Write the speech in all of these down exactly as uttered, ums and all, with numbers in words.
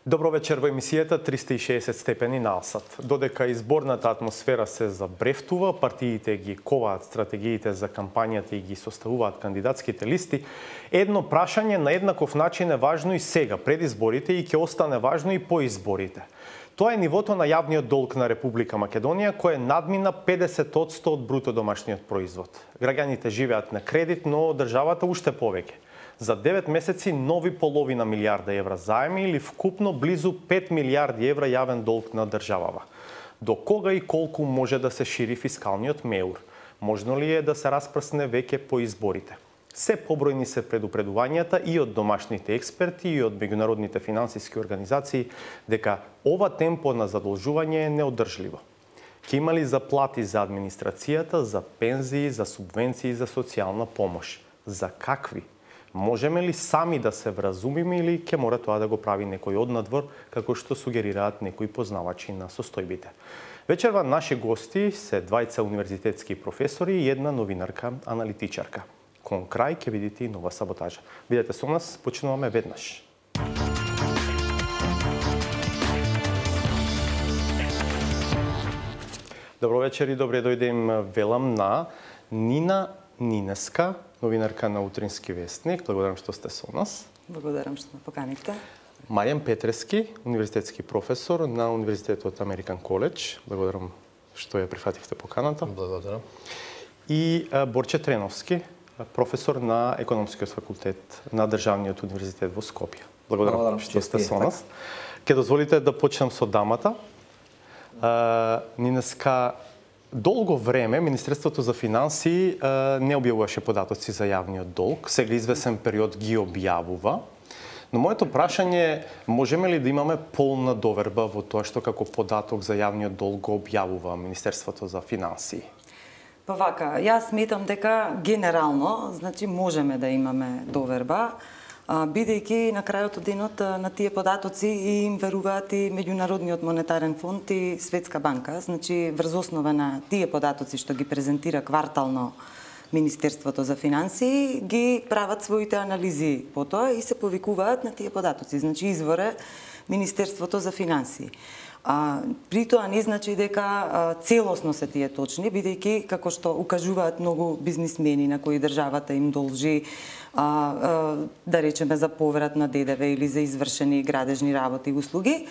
Добро вечер во емисијата триста и шеесет степени наосад. Додека изборната атмосфера се забрефтува, партиите ги коваат стратегиите за кампањата и ги составуваат кандидатските листи, едно прашање на еднаков начин е важно и сега, пред изборите, и ќе остане важно и по изборите. Тоа е нивото на јавниот долг на Република Македонија, кој надмина педесет одсто од бруто домашниот производ. Граѓаните живеат на кредит, но државата уште повеќе. За девет месеци нови половина милиарда евра заеми или вкупно близу пет милиарди евра јавен долг на државава. До кога и колку може да се шири фискалниот меур? Можно ли е да се распрсне веќе по изборите? Се побројни се предупредувањата и од домашните експерти и од меѓународните финансиски организации дека ова темпо на задолжување е неодржливо. Ќе има ли заплати за администрацијата, за пензии, за субвенции, за социјална помош? За какви? Можеме ли сами да се вразумиме или ќе мора тоа да го прави некој однадвор, како што сугерираат некои познавачи на состојбите? Вечерва наши гости се двајца универзитетски професори и една новинарка, аналитичарка. Кон крај ќе видите и нова саботажа. Бидете со нас, почнуваме веднаш. Добро вечер и добре дојдем велам на Нина Нинеска, новинарка на Утрински вестник. Благодарам што сте со нас. Благодарам што ме поканивте. Маријан Петрески, универзитетски професор на Универзитетот Американ Коледж. Благодарам што ја прифативте поканата. Благодарам. И Борче Треновски, професор на Економскиот факултет на Државниот универзитет во Скопје. Благодарам, Благодарам што сте со нас. Ке дозволите да почнам со дамата. Нинеска, долго време Министерството за финансии не објавуваше податоци за јавниот долг, сега извесен период ги објавува. Но моето прашање е, можеме ли да имаме полна доверба во тоа што како податок за јавниот долг го објавува Министерството за финансии? Па вака, јас сметам дека генерално, значи можеме да имаме доверба, бидејќи на крајот од денот на тие податоци и им веруваат и Меѓународниот монетарен фонд и Светска банка. Значи, врз основа на тие податоци што ги презентира квартално Министерството за финансии, ги прават своите анализи по тоа и се повикуваат на тие податоци. Значи, извор е Министерството за финансии. А, при тоа не значи дека а, целосно се тие точни, бидејќи, како што укажуваат многу бизнисмени на кои државата им должи, а, а, да речеме, за поврат на ДДВ или за извршени градежни работи и услуги,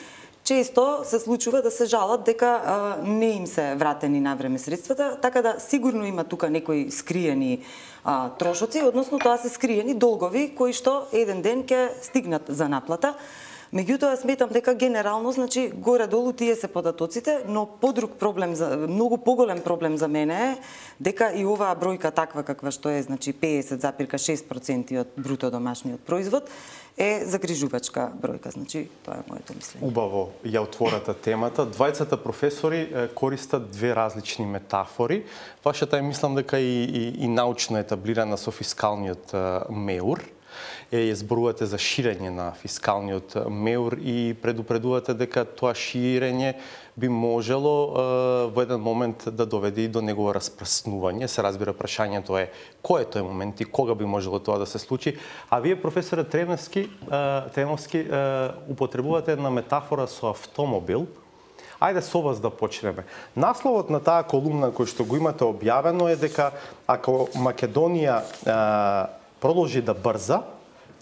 често се случува да се жалат дека а, не им се вратени навреме средствата, така да сигурно има тука некои скриени а, трошоци, односно тоа се скриени долгови кои што еден ден ќе стигнат за наплата. Меѓутоа, сметам дека генерално, значи, горе-долу тие се податоците, но подруг проблем, за, многу поголем проблем за мене е дека и оваа бројка таква каква што е, значи педесет запирка шест проценти од бруто домашниот производ, е загрижувачка бројка, значи тоа е моето мислење. Убаво ја отвората темата. Двајцата професори користат две различни метафори. Вашата е, мислам дека и, и, и научно етаблирана со фискалниот меур. Е, зборувате за ширење на фискалниот меур и предупредувате дека тоа ширење би можело е, во еден момент да доведе и до негово распрснување. Се разбира, прашањето е кој е тој момент и кога би можело тоа да се случи. А вие, професоре Треновски, Треновски употребувате една метафора со автомобил. Ајде со вас да почнеме. Насловот на таа колумна кој што го имате објавено е дека ако Македонија е, продолжи да брза,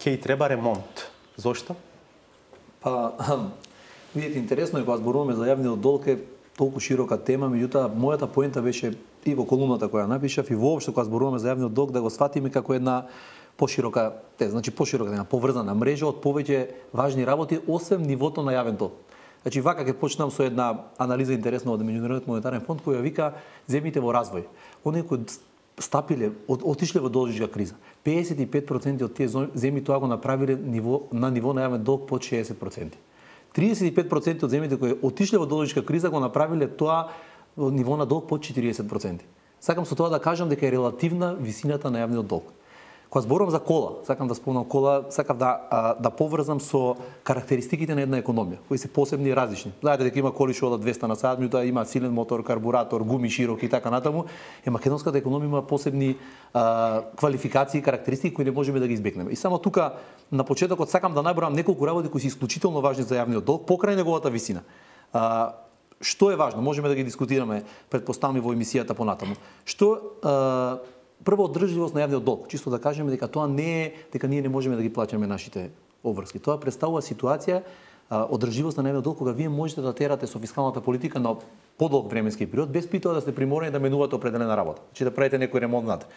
ќе и треба ремонт. Зошто? Па, видите, интересно е кога зборуваме за јавниот долг е толку широка тема, меѓутоа мојата поента беше и во колумната која напишав и воопшто кога зборуваме за јавниот долг да го сватиме како една поширока, те, значи поширока, една поврзана мрежа од повеќе важни работи освен нивото на јавен долг. Значи вака ќе почнам со една анализа интересна од Меѓународниот монетарен фонд која вика земјите во развој. Оние кои стапиле, отишле во должничка криза. педесет и пет проценти од тие земји тоа го направиле ниво, на ниво на јавен долг под шеесет проценти. триесет и пет проценти од земјите кои отишле во должничка криза го направиле тоа ниво на долг под четириесет проценти. Сакам со тоа да кажам дека е релативна висината на јавниот долг. Кога зборувам за кола, сакам да спомнам кола, сакам да а, да поврзам со карактеристиките на една економија, кои се посебни и различни. Знаете дека има коли што одат двеста на сат, меѓутоа има силен мотор, карбуратор, гуми широки и така натаму. Е македонската економија има посебни а, квалификации и карактеристики кои не можеме да ги избегнеме. И само тука на почетокот сакам да набројам неколку работи кои се исклучително важни за јавниот долг покрај неговата висина. А, што е важно? Можеме да ги дискутираме предпоставни во емисијата понатаму. Што а, прво одржливост на јавниот долг, чисто да кажеме дека тоа не е дека ние не можеме да ги плаќаме нашите обврски. Тоа представува ситуација а, одржливост на јавниот долг кога вие можете да терате со фискалната политика на подолг временски период без при тоа да сте приморени да менувате определена работа, значи да правите некој ремонт над.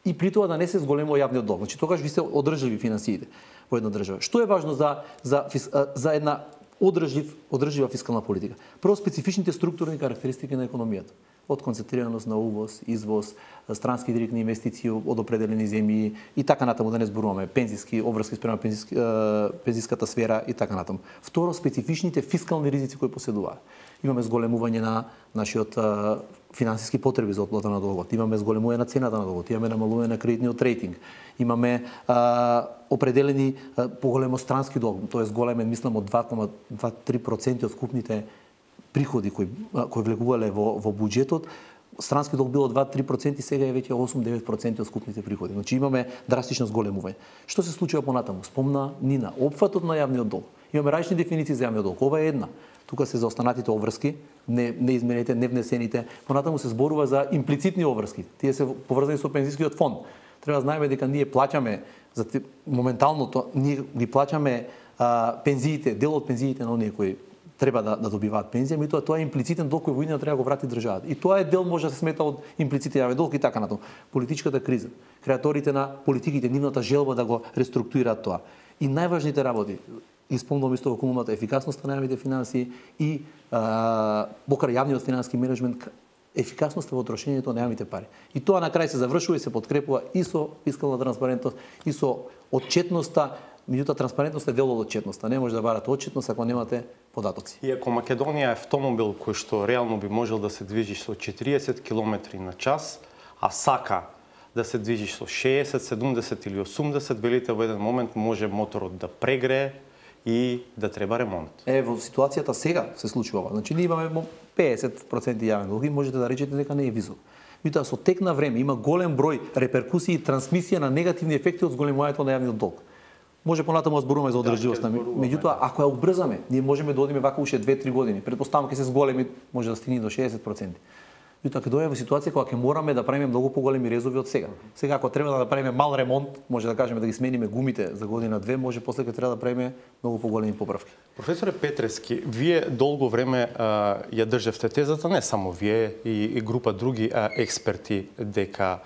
И при тоа да не се зголемува јавниот долг. Значи тогаш ви се одржливи финансиите во една држава. Што е важно за за за една одржлив одржлива фискална политика? Прво специфичните структурни карактеристики на економијата. Од концентрираност на увоз, извоз, странски директни инвестиции од определени земји и така натаму, да не зборуваме пензиски обврски спрема пензиски, пензиската сфера и така натаму. Второ, специфичните фискални ризици кои поседуваат. Имаме зголемување на нашиот финансиски потреби за отплата на долгот, имаме зголемување на цената на долгот, имаме намалување на кредитниот рейтинг, имаме а, определени а, поголемо странски долг, тоест големен, мислам, од два zarez дваесет и три проценти од вкупните приходи кои кои влегувале во во буџетот. Странски долг било два zarez три проценти, сега е веќе осум до девет проценти од скупните приходи. Значи имаме драстично зголемување. Што се случува понатаму? Спомна Нина, опфатот на јавниот долг. Имаме различни дефиниции за јавниот долг. Ова е една. Тука се за останатите обврски, не неизменените, невнесените. Понатаму се зборува за имплицитни обврски. Тие се поврзани со пензискиот фонд. Треба да знаеме дека ние плаќаме за моменталното, ние ги плаќаме а, пензиите, дел од пензиите на оние кои треба да, да добиваат пензија, меѓутоа тоа е имплицитен долг кој во иднина треба да го врати државата. И тоа е дел може да се смета од имплицитен јавен долг и така натаму. Политичката криза, креаторите на политиките, нивната желба да го реструктурираат тоа. И најважните работи, исполнувам исто во колумната ефикасноста на јавните финансии и а, покрај јавниот финансиски менеджмент, ефикасноста во трошењето на јавните пари. И тоа на крај се завршува и се подкрепува и со фискална транспарентност, и со отчетноста. Меѓутоа транспарентност е дел од отчетноста. Не може да барате отчетност ако немате податоци. И ако Македонија е автомобил кој што реално би можел да се движи со четириесет километри на час, а сака да се движи со шеесет, седумдесет или осумдесет, велите во еден момент може моторот да прегрее и да треба ремонт. Е, во ситуацијата сега се случува ова. Значи ние имаме педесет проценти јавен долг и можете да речете дека не е висок. Меѓутоа со тек на време има голем број реперкусии и трансмисија на негативни ефекти од зголемувањето на јавниот долг. Може понатаму да зборуваме за одржливост на меѓутоа ако ја убрзаме, ние можеме да одиме вака уште две-три години. Претпоставам ќе се зголеми, може да стигне до шеесет проценти. Меѓутоа ќе дојдеме во ситуација кога ќе мораме да правиме многу поголеми резови од сега. Сега ако треба да направиме мал ремонт, може да кажеме да ги смениме гумите за година две, може после ќе треба да правиме многу поголеми поправки. Професоре Петрески, вие долго време а, ја држевте тезата, не само вие и, и група други а, експерти, дека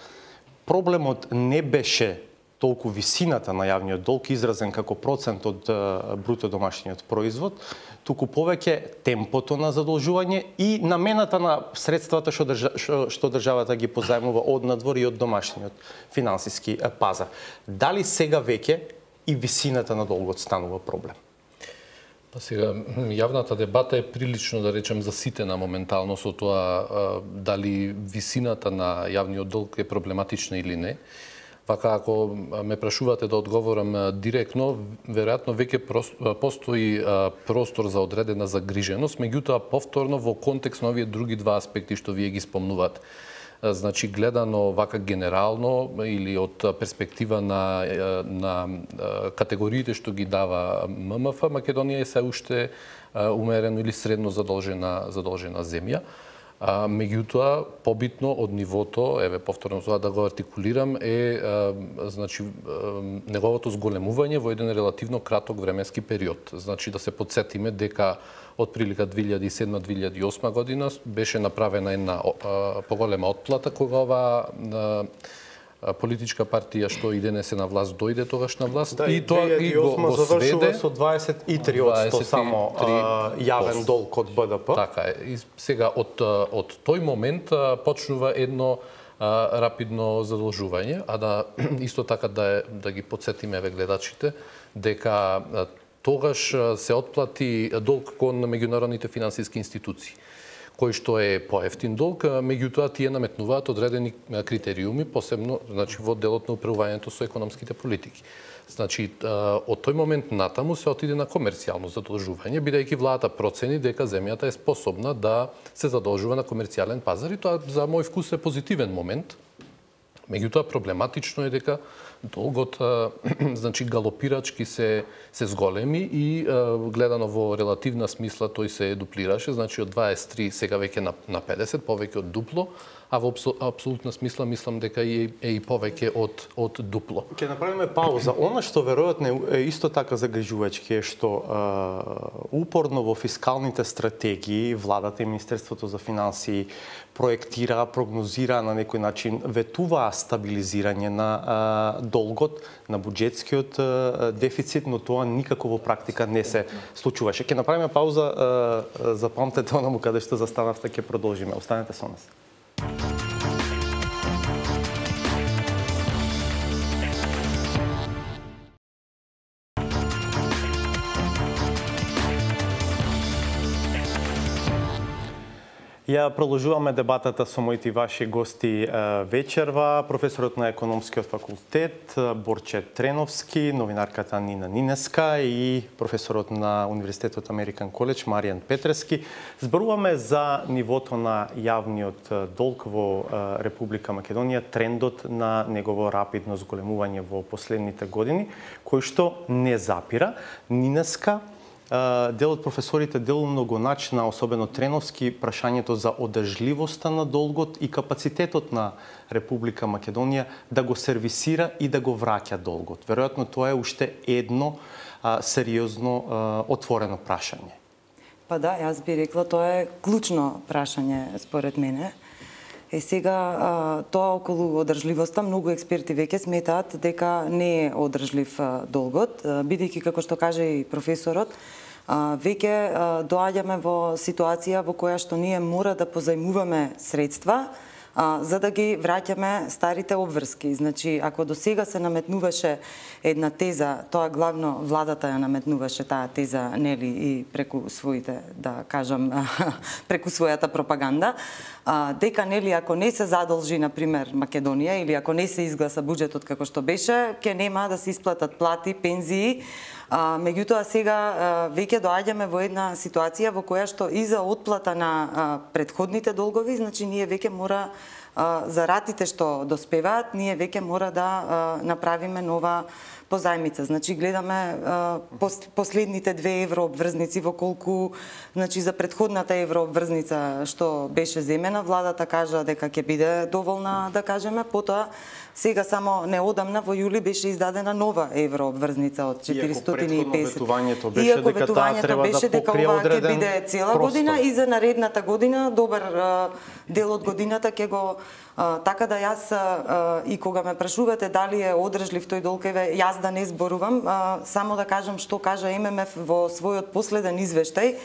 проблемот не беше толку висината на јавниот долг изразен како процент од бруто домашниот производ, туку повеќе темпото на задолжување и намената на средствата што, држа, што, што државата ги позајмува од надвор и од домашниот финансиски пазар. Дали сега веќе и висината на долгот станува проблем? Па сега, јавната дебата е прилично, да речем, заситена моментално со тоа дали висината на јавниот долг е проблематична или не. Вака, ако ме прашувате да одговорам директно, веројатно веќе постои простор за одредена загриженост, меѓутоа повторно во контекст на овие други два аспекти што вие ги спомнувате. Значи, гледано вака генерално или од перспектива на, на категориите што ги дава ММФ, Македонија е се уште умерено или средно задолжена, задолжена земја. А, меѓутоа, побитно од нивото, еве повторно тоа да го артикулирам, е а, значи, а, неговото зголемување во еден релативно краток временски период. Значи, да се подсетиме дека од прилика две илјади и седма - две илјади и осма година беше направена една а, поголема отплата кога ова а, политичка партија што и денес е на власт дојде тогаш на власт да, и тоа и го, го сведе со дваесет и три одсто само а, јавен долг од Б Д П. Така е. И сега од од тој момент почнува едно а, рапидно задолжување, а да исто така да да ги потсетиме еве гледачите дека тогаш се отплати долг кон меѓународните финансиски институции, кој што е поевтин долг, меѓутоа тие наметнуваат одредени критериуми, посебно значи во делот на управувањето со економските политики. Значи, од тој момент натаму се отиде на комерцијално задолжување, бидејќи владата процени дека земјата е способна да се задолжува на комерцијален пазар и тоа за мој вкус е позитивен момент. Меѓутоа проблематично е дека долгот значи галопирачки се се зголеми и гледано во релативна смисла тој се дуплираше, значи од дваесет и три сега веќе на на педесет, повеќе од дупло, а во апсолутна смисла мислам дека е, е и повеќе од од дупло. Ќе направиме пауза. Она што веројатно е исто така загрижувачки е што е, упорно во фискалните стратегии владата и Министерството за финансии проектира, прогнозира на некој начин ветуваа стабилизирање на е, долгот, на буџетскиот е, дефицит, но тоа никако во практика не се случуваше. Ќе направиме пауза, е, запамтете онаму каде што застанавте, ќе продолжиме. Останете со нас. Ја продолжуваме дебатата со моите и ваши гости вечерва, професорот на економскиот факултет Борче Треновски, новинарката Нина Нинеска и професорот на Универзитетот Американ Коледж Маријан Петрески. Зборуваме за нивото на јавниот долг во Република Македонија, трендот на негово рапидно зголемување во последните години, кој што не запира. Нинеска, дел од професорите делумно го начина, особено Треновски, прашањето за одржливоста на долгот и капацитетот на Република Македонија да го сервисира и да го враќа долгот. Веројатно тоа е уште едно а, сериозно а, отворено прашање. Па да, јас би рекла тоа е клучно прашање според мене. Е сега тоа околу одржливоста, многу експерти веќе сметаат дека не е одржлив долгот, бидејќи како што каже и професорот, веќе доаѓаме во ситуација во која што ние мора да позајмуваме средства за да ги враќаме старите обврски. Значи, ако до сега се наметнуваше една теза, тоа главно владата ја наметнуваше таа теза, нели, и преку своите, да кажам, преку својата пропаганда, дека, нели, ако не се задолжи, например, Македонија, или ако не се изгласа буџетот како што беше, ќе нема да се исплатат плати, пензии. А, меѓутоа сега а, веќе доаѓаме во една ситуација во која што и за отплата на а, предходните долгови, значи ние веќе мора а, за ратите што доспеваат, ние веќе мора да а, направиме нова позајмица. Значи гледаме а, пос, последните две еврообврзници во колку, значи за предходната еврообврзница што беше земена, владата кажа дека ќе биде доволна, да кажеме, потоа сега само неодамна во јули беше издадена нова еврообврзница од четиристотини и песет. Иако ветувањето беше дека таа треба да покрие одреден ќе биде цела простор. Година и за наредната година, добар а, дел од годината ќе го а, така да јас а, и кога ме прашувате дали е одржлив тој долг, еве јас да не зборувам, а, само да кажам што кажа Ем Ем Еф во својот последен извештај.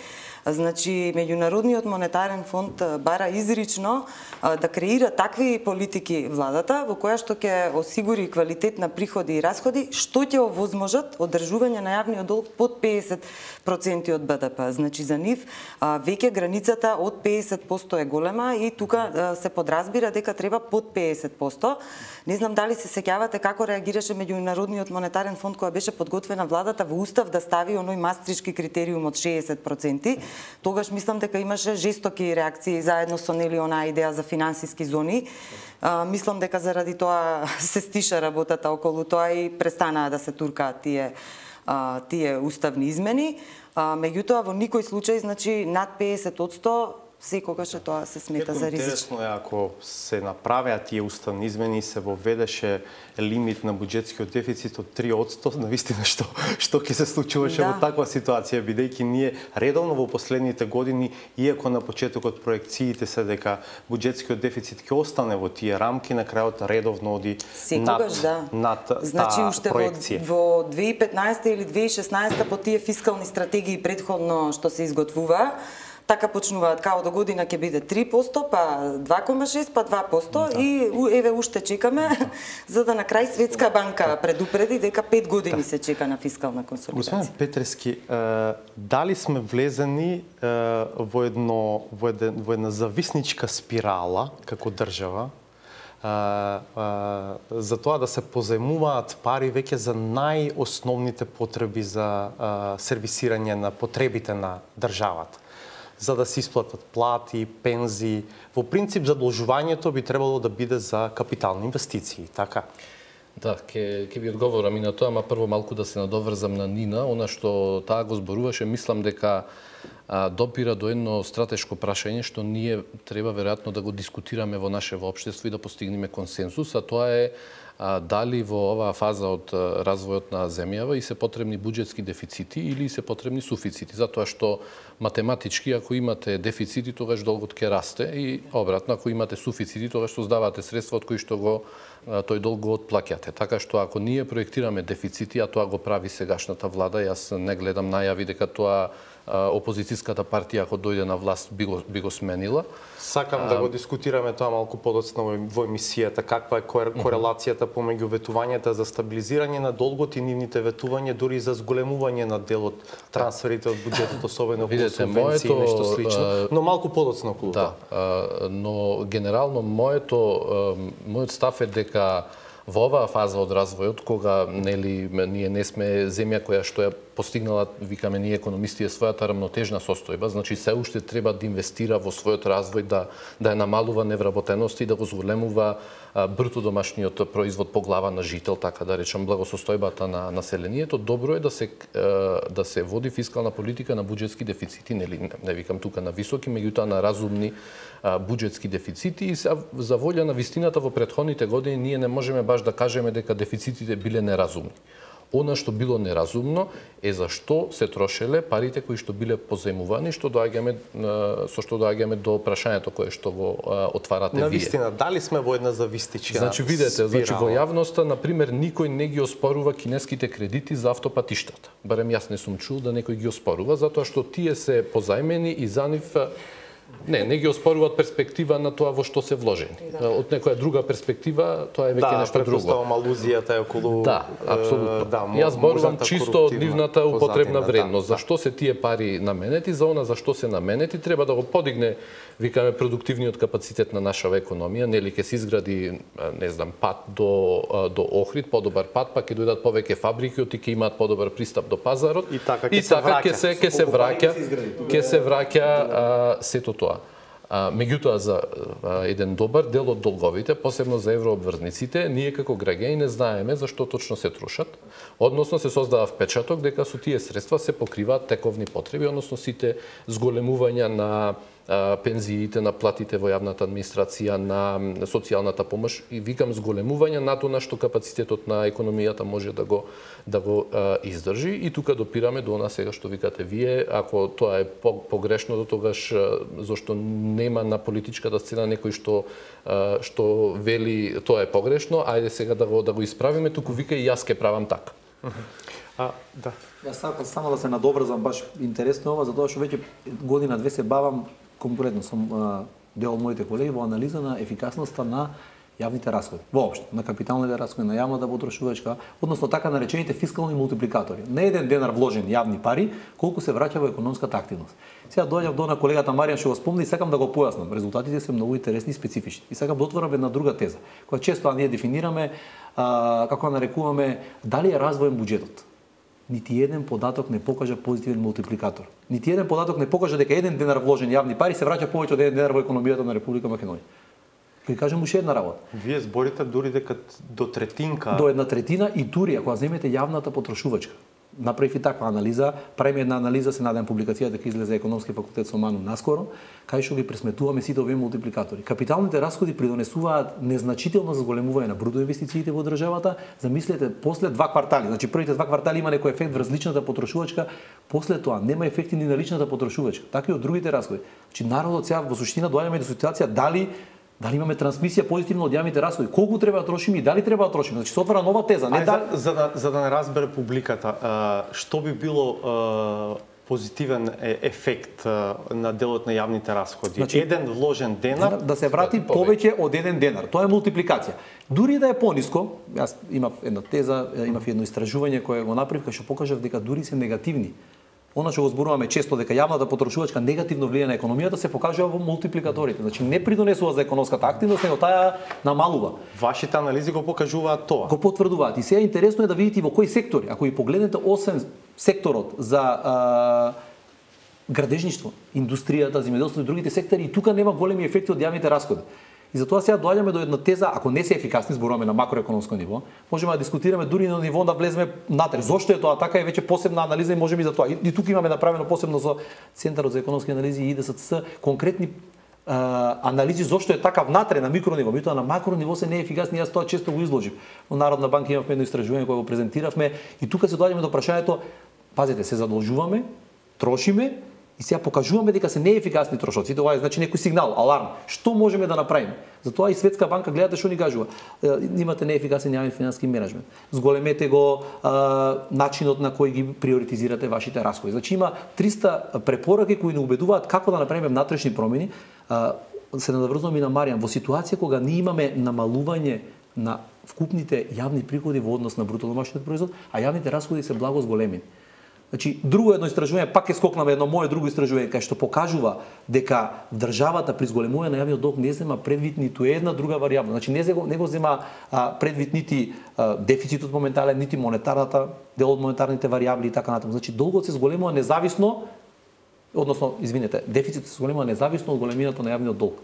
Значи, Меѓународниот монетарен фонд бара изрично да креира такви политики владата во која што ќе осигури квалитет на приходи и расходи, што ќе овозможат одржување на јавниот долг под педесет проценти од Б Д П. Значи, за нив веќе границата од педесет проценти е голема и тука се подразбира дека треба под педесет проценти. Не знам дали се сеќавате како реагираше Меѓународниот монетарен фонд кога беше подготвена владата во устав да стави оној мастрички критериум од шеесет проценти. Тогаш мислам дека имаше жестоки реакции заедно со нели онаа идеја за финансиски зони. А, мислам дека заради тоа се стиша работата околу тоа и престанаа да се туркаат тие а, тие уставни измени. А, меѓутоа во никој случај, значи над педесет проценти секогаш тоа се смета за ризично. Интересно е ако се направеа тие уставни измени и се воведеше лимит на буџетскиот дефицит од три проценти, навистина што што ќе се случуваше да. Во таква ситуација, бидејќи ние редовно во последните години, иако на почетокот проекциите се дека буџетскиот дефицит ќе остане во тие рамки, на крајот редовно оди секогаш, над, да. над значи, таа уште проекција. Во, во две илјади и петнаесета или две илјади и шеснаесета по тие фискални стратегии предходно што се изготвува, така почнуваат као до година ќе биде три проценти, па два кома шест, па два проценти да. И еве уште чекаме за да на крај Светска банка предупреди дека пет години да. Се чека на фискална консолидација. Господин Петрески, дали сме влезени во едно во една, во една зависничка спирала како држава? Uh, uh, за тоа да се позајмуваат пари веќе за најосновните потреби за uh, сервисирање на потребите на државата. За да се исплатат плати, пензии. Во принцип, задолжувањето би требало да биде за капитални инвестиции, така? Да, ќе ќе ви одговорам и на тоа, ама прво малку да се надоврзам на Нина. Она што таа го зборуваше, мислам дека а, допира до едно стратешко прашање што ние треба веројатно да го дискутираме во наше општество и да постигнеме консенсус, а тоа е а, дали во оваа фаза од а, развојот на земјава и се потребни буџетски дефицити или се потребни суфицити, затоа што математички ако имате дефицити тогаш долгот ќе расте и обратно ако имате суфицити тогаш создавате средства од кои што го тој долг го отплаќате. Така што ако ние проектираме дефицити, а тоа го прави сегашната влада, јас не гледам најави дека тоа опозицијската партија ако дојде на власт би го, би го сменила. Сакам а, да го дискутираме тоа малку подоцна во емисијата, каква е корелацијата помеѓу ветувањата за стабилизирање на долгот и нивните ветувања дури за зголемување на делот трансферите од буџетот, особено во субвенции и нешто слично, но малку подоцна околу тоа. Да, но генерално моето мојот став е дека во оваа фаза од развојот, кога нели ние не сме земја која што ја постигнала, викаме ние економисти, е својата рамнотежна состојба, значи се уште треба да инвестира во својот развој, да да ја намалува невработеност и да го зголемува бруто домашниот производ по глава на жител, така да речам, благосостојбата на населението. Добро е да се да се води фискална политика на буџетски дефицити, нели не викам тука на високи, меѓутоа на разумни буџетски дефицити и за волја на вистината во претходните години ние не можеме баш да кажеме дека дефицитите биле неразумни. Она што било неразумно е зашто се трошеле парите кои што биле позајмувани, што доаѓаме со што доаѓаме до прашањето кое што го отварате вие. На вистина, дали сме во една завистичка Значи видете, значи во јавноста на пример никој не ги оспорува кинеските кредити за автопатиштата. Барем јас не сум чул да некој ги оспорува затоа што тие се позајмени и за нив Не, не ги оспоруваат перспектива на тоа во што се вложени. Да. Од некоја друга перспектива, тоа е веќе да, нешто друго. Да, претпоставам алузијата е околу Да, апсолутно. Да, Јас зборувам чисто од нивната употребна вредност. Да, зашто се тие пари наменети, за она зашто се наменети, треба да го подигне, викаме, продуктивниот капацитет на нашава економија, нели ќе се изгради, не знам, пат до до Охрид, подобар пат, па ќе дојдат повеќе фабрики, и ќе имаат подобар пристап до пазарот. И така ќе се враќа, ќе се враќа, ќе се враќа сето тоа. А, меѓутоа, за а, еден добар дел од долговите, посебно за еврообврзниците, ние како граѓани не знаеме зашто точно се трошат, односно се создава впечаток дека со тие средства се покриваат тековни потреби, односно сите зголемувања на а, пензиите, на платите во јавната администрација, на социјалната помош и викам зголемување нато на што капацитетот на економијата може да го да го а, издржи и тука допираме до она сега што викате вие, ако тоа е погрешно до тогаш зашто нема на политичката сцена некој што а, што вели тоа е погрешно, ајде сега да го да го исправиме, туку вика и јас ке правам така. А, да. Јас сакам само да се надоврзам, баш интересно ова, затоа што веќе година две се бавам, конкурентно сум а, дел од моите колеги во анализа на ефикасноста на јавните расходи, воопшто, на капиталните расходи, на јавната потрошувачка, односно така наречените фискални мултипликатори. Не еден денар вложен јавни пари, колку се враќа во економската активност. Сега доаѓам до на колегата Маријан што го спомни и сакам да го појаснам. Резултатите се многу интересни и специфични. И сакам да отворам една друга теза, која често ние дефинираме, а, како нарекуваме, дали е развоен буџетот. Нити еден податок не покажа позитивен мултипликатор. Нити еден податок не покажа дека еден денар вложен јавни пари се враќа повеќе од еден денар во економијата на Република Македонија. Ќе кажам уште една работа. Вие зборите дури дека до третинка... До една третина и дури, ако земете јавната потрошувачка. Направив и таква анализа, правиме една анализа, се надам публикацијата дека излезе економски факултет со Ману наскоро, кај што ги пресметуваме сите овие мултипликатори. Капиталните расходи придонесуваат незначително зголемување на бруто инвестициите во државата. Замислете, после два квартали, значи првите два квартали има некој ефект врз личната потрошувачка, после тоа нема ефекти ни на личната потрошувачка, така и од другите расходи. Значи народот сега во суштина доаѓаме до ситуација дали Дали имаме трансмисија позитивно од јавните расходи? Колку треба да трошиме и дали треба да трошиме? Значи се отвара нова теза, не Ај, дали... за, за да за да не разбере публиката, а, што би било а, позитивен ефект на делот на јавните расходи. Значи, еден вложен денар да се врати повеќе од еден денар. Тоа е мултипликација. Дури да е пониско, јас имав една теза, имав едно истражување кое го направив кај што покажав дека дури се негативни. Она што го зборуваме често дека јавната потрошувачка негативно влијае на економијата се покажува во мултипликаторите. Значи не придонесува за економската активност, него таа намалува. Вашите анализи го покажуваат тоа. Го потврдуваат. И сега интересно е да видите во кои сектори. Ако и погледнете освен секторот за а, градежништво, индустријата, земјоделството и другите сектори, и тука нема големи ефекти од јавните расходи. И затоа сега доаѓаме до една теза, ако не се ефикасни, зборуваме на макроекономско ниво, можеме да дискутираме дури на ниво да влеземе натре. Зошто е тоа така е веќе посебна анализа и можеме и за тоа. И, и тука имаме направено посебно со Центарот за економски анализи и И Д С Ц конкретни а, анализи зошто е така внатре на микрониво, меѓутоа на макрониво се не е ефикасни, јас тоа често го изложив. Во Народна банка имавме едно истражување кое го презентиравме и тука се доаѓаме до прашањето, пазете, се задолжуваме, трошиме и сега покажуваме дека се неефикасни трошоци. Тоа е значи некој сигнал, аларм. Што можеме да направиме? Затоа и Светска банка гледате што ни кажува. Имате неефикасен јавен финансиски менеджмент. Зголемете го а, начинот на кој ги приоритизирате вашите расходи. Значи има триста препораки кои ни убедуваат како да направиме внатрешни промени. А, се надврзувам и на Маријан. Во ситуација кога ние имаме намалување на вкупните јавни приходи во однос на бруто домашниот производ, а јавните расходи се благо зголемени. Значи, друго едно истражување, пак е скокнаме едно мое друго истражување, кај што покажува дека државата при зголемување на јавниот долг не зема предвид ниту една друга варијабла. Значи, не, зего, не го зема а, предвид нити а, дефицитот моментален, нити монетарната, дел од монетарните варијабли и така натаму. Значи, долгот се зголемува независно, односно, извинете, дефицитот се зголемува независно од големината на јавниот долг.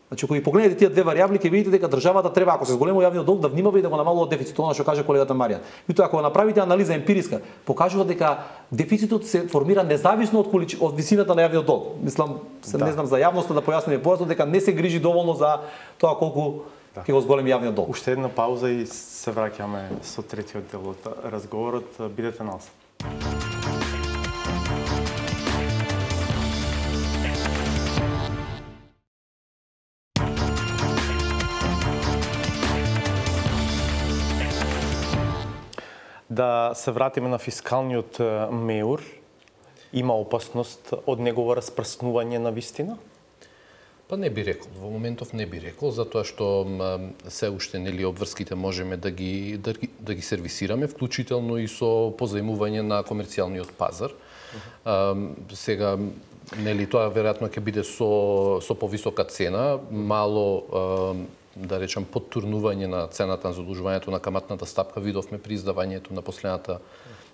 Значи, ако ги погледнете тие две варијабли, ќе видите дека државата треба, ако се зголемува јавниот долг, да внимава и да го намалува дефицитот, она што каже колегата Маријан. Меѓутоа, ако направите анализа емпириска, покажува дека дефицитот се формира независно од колич... од висината на јавниот долг. Мислам, се да. Не знам за јавноста да појасниме појасно дека не се грижи доволно за тоа колку да. Ќе го зголеми јавниот долг. Уште една пауза и се враќаме со третиот дел од разговорот. Бидете на нас. Да се вратиме на фискалниот меур, има опасност од негово распрснување на вистина? Па не би рекол, во моментов не би рекол, затоа што се уште нели обврските можеме да ги да, да ги сервисираме, вклучително и со позајмување на комерцијалниот пазар. Uh-huh. А, сега нели тоа веројатно ќе биде со со повисока цена, мало а, да речем подтурнување на цената на задолжувањето на каматната стапка видовме при издавањето на последната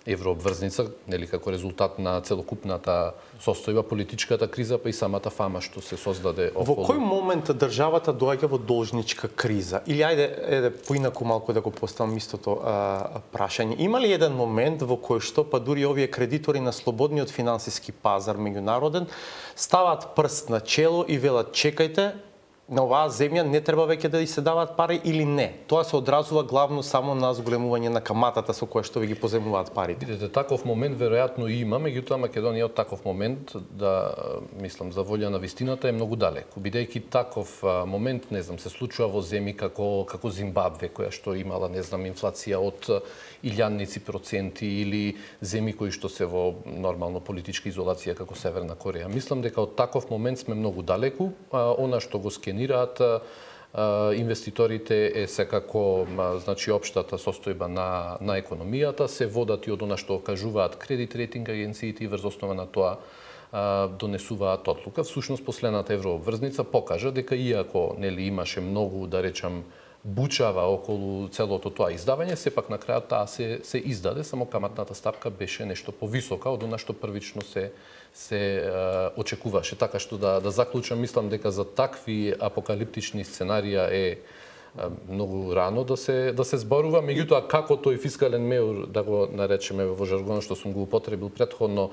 еврообврзница, нели како резултат на целокупната состојба, политичката криза, па и самата фама што се создаде околу. Во кој момент државата доаѓа во должничка криза? Или ајде, еде поинаку малку да го поставам истото а, прашање. Има ли еден момент во кој што па дури овие кредитори на слободниот финансиски пазар меѓународен стават прст на чело и велат чекајте, на оваа земја не треба веќе да се даваат пари или не? Тоа се одразува главно само на зголемување на каматата со која што ви ги позајмуваат парите. Видете, таков момент веројатно има, меѓутоа Македонија од таков момент, да мислам за волја на вистината, е многу далеко. Бидејќи таков момент, не знам, се случува во земји како како Зимбабве, која што имала, не знам, инфлација од илјадници проценти, или земји кои што се во нормално политичка изолација како Северна Кореја. Мислам дека од таков момент сме многу далеку. Она што го скенираат инвеститорите е секако значи општата состојба на на економијата, се водат и од она што кажуваат кредит рейтинг агенциите и врз основа на тоа донесуваат одлука. Всушност последната еврообврзница покажа дека иако нели имаше многу, да речам, бучава околу целото тоа издавање, сепак на крајот таа се се издаде, само каматната стапка беше нешто повисока од она што првично се се е, очекуваше. Така што да да заклучам, мислам дека за такви апокалиптични сценарија е, е многу рано да се да се зборува, меѓутоа како тој фискален меур, да го наречеме во жаргонот што сум го употребил претходно,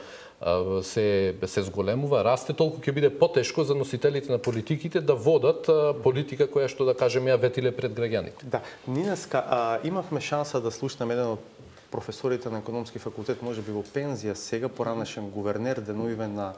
се се зголемува, расте, толку ќе биде потешко за носителите на политиките да водат политика која што да кажеме ја ветиле пред граѓаните. Да, Нинеска, а, имавме шанса да слушнеме еден од професорите на економски факултет, може би во пензија сега, поранешен гувернер, деновиве на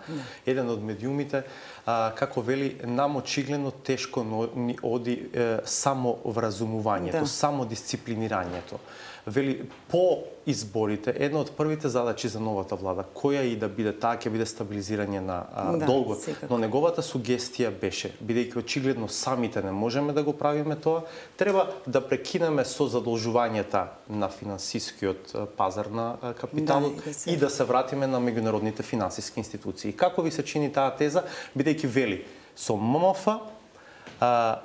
еден од медиумите, а, како вели, нам очигледно тешко ни оди е, само вразумувањето, да. само дисциплинирањето. вели по изборите една од првите задачи за новата влада, која и да биде, таа ќе биде стабилизирање на а, да, долгот. секако. Но неговата сугестија беше, бидејќи очигледно самите не можеме да го правиме тоа, треба да прекинеме со задолжувањата на финансискиот пазар на капиталот да, и, да се... и да се вратиме на меѓународните финансиски институции. Како ви се чини таа теза, бидејќи вели со М М Ф а,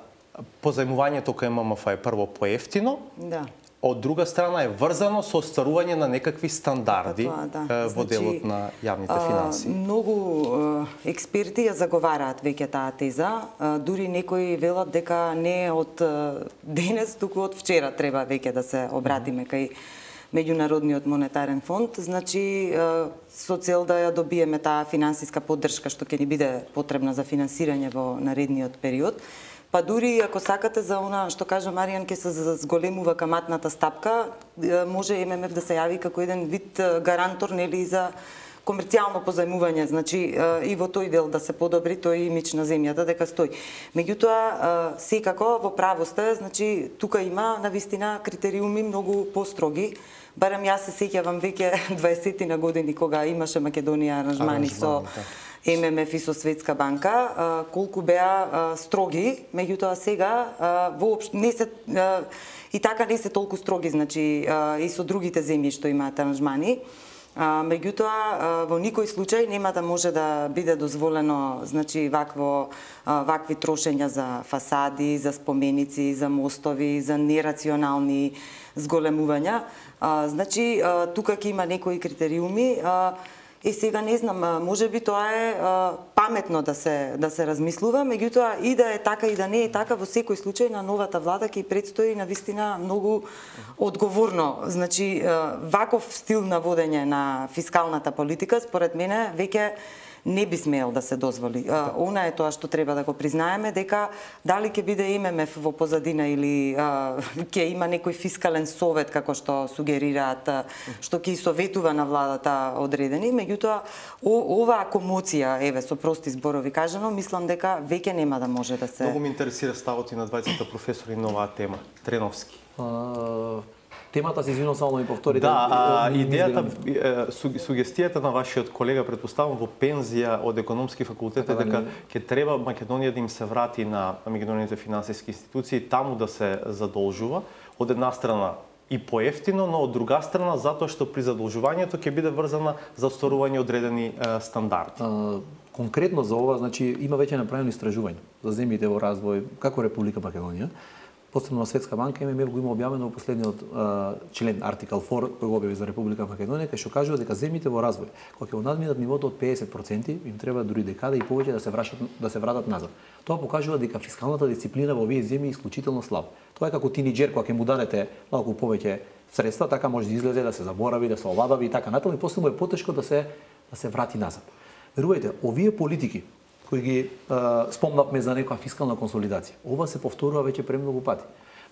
позајмувањето кај М М Ф е прво поевтино, да. од друга страна е врзано со остварување на некакви стандарди Тоа, да. во Значи, делот на јавните финанси. А, многу а, експерти ја заговараат веќе таа теза, а, дури некои велат дека не од а, денес, туку од вчера треба веќе да се обратиме кај Меѓународниот монетарен фонд, значи а, со цел да ја добиеме таа финансиска поддршка што ќе ни биде потребна за финансирање во наредниот период. Па дури ако сакате за она што кажа Маријан ќе се зголемува каматната стапка, може М М Ф да се јави како еден вид гарантор нели за комерцијално позајмување, значи и во тој дел да се подобри тој имидж на земјата дека стои. Меѓутоа секако во право сте, значи тука има навистина критериуми многу построги. Барем јас се сеќавам веќе дваесет години кога имаше Македонија аранжмани со М М Ф и со Светска банка, колку беа строги, меѓутоа сега воопшто не се и така не се толку строги, значи и со другите земји што имаат аранжмани. Меѓутоа во никој случај нема да може да биде дозволено, значи вакво вакви трошења за фасади, за споменици, за мостови, за нерационални зголемувања. Значи тука ќе има некои критериуми. И сега не знам, може би тоа е а, паметно да се да се размислува, меѓутоа и да е така и да не е така, во секој случај на новата влада ќе предстои навистина многу одговорно. Значи ваков стил на водење на фискалната политика според мене веќе не би смеел да се дозволи. А, она е тоа што треба да го признаеме, дека дали ќе биде М М Ф во позадина или а, ќе има некој фискален совет, како што сугерираат, што ќе советува на владата одредени, меѓутоа оваа комоција, еве, со прости зборови кажано, мислам дека веќе нема да може да се... Многу ме интересира ставот и на двајцата професори на оваа тема. Треновски. А... Темата се извинувам, само да ми повторите. Да, а, идејата, сугестијата на вашиот колега, предпоставам во пензија од економски факултет, е дека ќе треба Македонија да им се врати на меѓународните финансиски институции, таму да се задолжува, од една страна и поевтино, но од друга страна затоа што при задолжувањето ќе биде врзана за остварување одредени е, стандарди. А, конкретно за ова, значи има веќе направено истражување за земјите во развој како Република Македонија. Посебно на Светска банка М М Ф го има објавено во последниот а, член артикал четири кој го објави за Република Македонија, кај што кажува дека земјите во развој кога ќе го надминат нивото од педесет проценти, им треба дури декада и повеќе да се врашат да се вратат назад. Тоа покажува дека фискалната дисциплина во овие земји е исклучително слаба. Тоа е како тинеџер кога ќе му дадете малку повеќе средства, така може да излезе, да се заборави, да се оладави и така натаму, и после му е потешко да се да се врати назад. Верувајте, овие политики кои ги е, спомнавме за некоја фискална консолидација. Ова се повторува веќе премногу пати.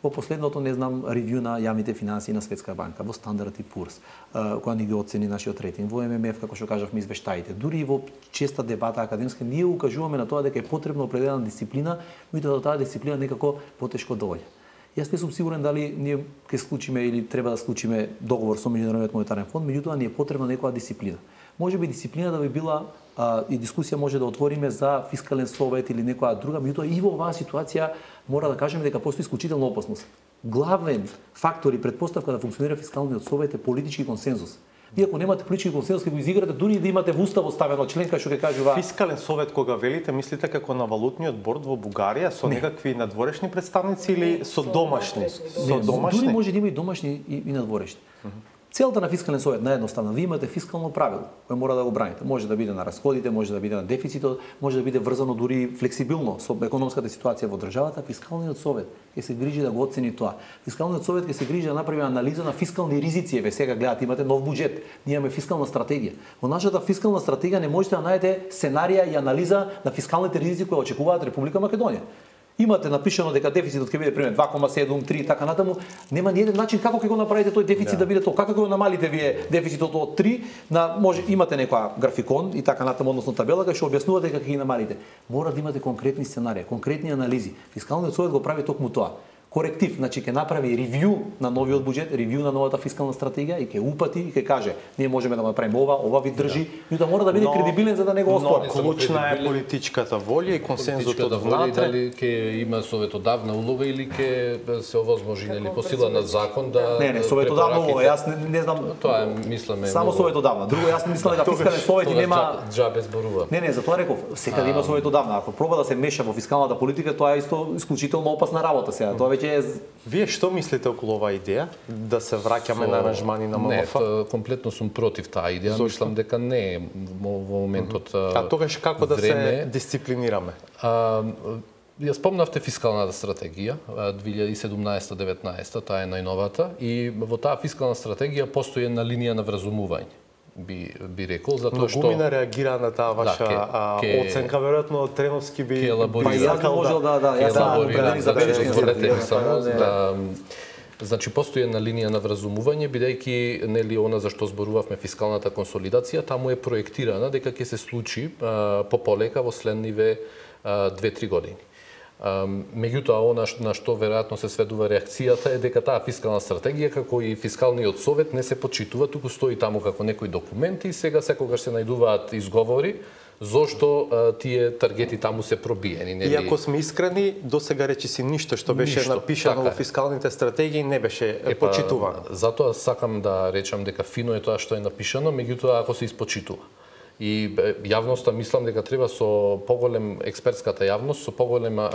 Во последното, не знам, ревју на јавните финансии на Светска банка, во Стандард и Пурс, која ни ги оцени нашиот рейтинг, во М М Ф, како што кажавме, извештаите, дури и во честа дебата академска, ние укажуваме на тоа дека е потребна определена дисциплина, меѓутоа таа дисциплина некако потешко доаѓа. Јас не сум сигурен дали ние ќе склучиме или треба да склучиме договор со Меѓународниот монетарен фонд, меѓутоа ни е потребна некоја дисциплина. Може би дисциплина да би била а, и дискусија може да отвориме за фискален совет или некоја друга, меѓутоа и во оваа ситуација мора да кажеме дека постои исклучителна опасност. Главен фактор и предпоставка да функционира фискалниот совет е политички консензус. Вие ако немате политички консензус, ќе го изиграте дури да имате во уставот ставено член кај што ќе кажува фискален совет кога велите, мислите како на валутниот борд во Бугарија со не. Некакви надворешни представници или не, со домашни? Со домашни. Дури може да има и домашни и, и надворешни. Uh -huh. Целта на фискален совет наедноставно, вие имате фискално правило кое мора да го браните. Може да биде на расходите, може да биде на дефицитот, може да биде врзано дури флексибилно со економската ситуација во државата. Фискалниот совет ќе се грижи да го оцени тоа. Фискалниот совет ќе се грижи да направи анализа на фискални ризици. Еве сега гледате, имате нов буџет, ние имаме фискална стратегија. Во нашата фискална стратегија не можете да најдете сценарија и анализа на фискалните ризици кои очекуваат Република Македонија. Имате напишано дека дефицитот ќе биде пример два кома седум, три и така натаму, нема ни еден начин како ќе го направите тој дефицит да, да биде тоа. Како ќе го намалите вие дефицитот од три на може имате некоја графикон и така натаму, односно табела кај што објаснувате како ќе ги намалите. Мора да имате конкретни сценарии, конкретни анализи. Фискалниот совет го прави токму тоа. коректив, значи ќе направи ревју на новиот буџет, ревју на новата фискална стратегија и ќе упати и ќе каже ние можеме да направиме ова, ова ви држи, но да мора да биде кредибилен за да не го оспори. Но клучна е политичката волја и консензусот внатре. Дали ќе има советодавна улога или ќе се овозможи нели по сила на закон да Не, не, советодавна улога, јас не, не знам. Тоа е мислиме. Само советодавна. Друго јас не мислам дека фискален совет нема џабе зборува. Не, не, затоа реков, секаде има советодавна. Ако проба да се меша во фискалната политика, тоа е исто исклучително опасна работа сега. Тоа веќе е. Вие што мислите околу оваа идеја да се враќаме на аранжмани на ММФ? Не, комплетно сум против таа идеја. Мислам дека не е во моментот. А тогаш како да се дисциплинираме? Ја спомнавте фискалната стратегија две илјади и седумнаесета деветнаесета, таа е најновата и во таа фискална стратегија постои една линија на вразумување. Би би рекол затоа што Гумина реагира на таа ваша да, ке, ке, оценка, веројатно Треновски би па јас не можел да да јас сам определени забелешки само да значи постои една линија на вразумување бидејќи нели она за што зборувавме фискалната консолидација таму е проектирана дека ќе се случи а, пополека во следниве две-три години. Меѓутоа, она на што веројатно се сведува реакцијата е дека таа фискална стратегија, како и фискалниот совет, не се почитува, туку стои таму како некои документи и сега секогаш се најдуваат изговори зошто а, тие таргети таму се пробиени. Нели? И ако сме искрени, до сега речи си ништо што беше ништо, напишано така во фискалните стратегии не беше е, почитувано. Затоа сакам да речам дека фино е тоа што е напишано, меѓутоа ако се испочитува. И јавноста мислам дека треба со поголем експертската јавност, со поголем е,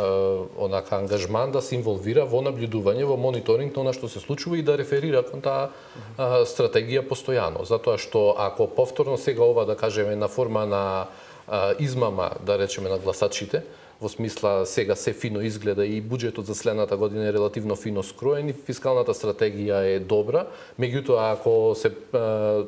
онака ангажман да се инволвира во наблюдување, во мониторинг на она што се случува и да реферира кон таа е, стратегија постојано. Затоа што ако повторно сега ова да кажеме на форма на е, измама, да речеме на гласачите, во смисла сега се фино изгледа и буџетот за следната година е релативно фино скроен и фискалната стратегија е добра, меѓутоа ако се е,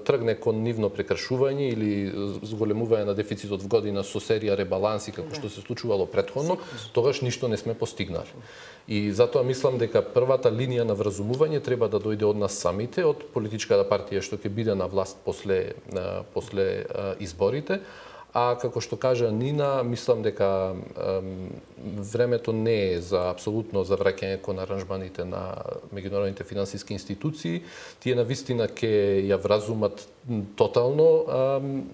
тргне кон нивно прекршување или зголемување на дефицитот в година со серија ребаланси како што се случувало претходно, тогаш ништо не сме постигнали. И затоа мислам дека првата линија на вразумување треба да дојде од нас самите, од политичката партија што ќе биде на власт после после изборите. А како што кажа Нина, мислам дека ем, времето не е за апсолутно за враќање кон аранжманите на меѓународните финансиски институции. Тие навистина ќе ја вразумат тотално ем,